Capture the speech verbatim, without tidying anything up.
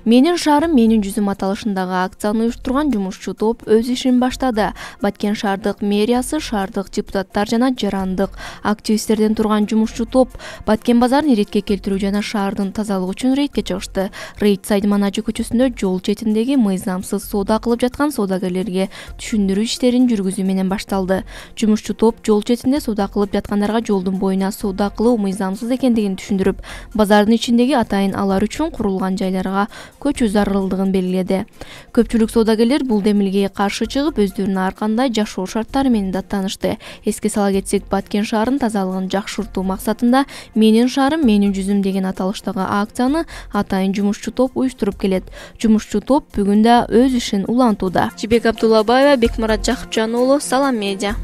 Менин шаарым менин жүзүм аталышындагы акцияны уюштурган жумушчу топ өз ишин баштады. Баткен шаардык мэриясы, шаардык депутаттар жана жарандык активисттерден турган жумушчу топ Баткен базарын иретке келтирүү жана шаардын тазалыгы үчүн рейдке чыгышты. Рейд Сайдманажы көчөсүндө жол четиндеги мыйзамсыз соода кылып жаткан соодагерлерге түшүндүрүү иштерин жүргүзүү менен башталды. Жумушчу топ жол четинде соода кылып жаткандарга жолдун боюна соода кылуу мыйзамсыз экендигин түшүндүрүп, базардын ичиндеги атайын алар үчүн курулган жайларга көчүү зарылдыгын белгиледи. Көпчүлүк соодагерлер бул демилгеге каршы чыгып, өздөрүнүн ар кандай жашоо шарттары менен даттанышты. Эске сала кетсек, Баткен шаарынын тазалыгын жакшыртуу максатында "Менин шаарым, менин жүзүм" деген аталыштагы акцияны атайын жумушчу топ уюштуруп келет. Жумушчу топ бүгүн да өз ишин улантууда. Жибек Абдуллабаева, Бекмурат Жакыпжан уулу, Салам медиа.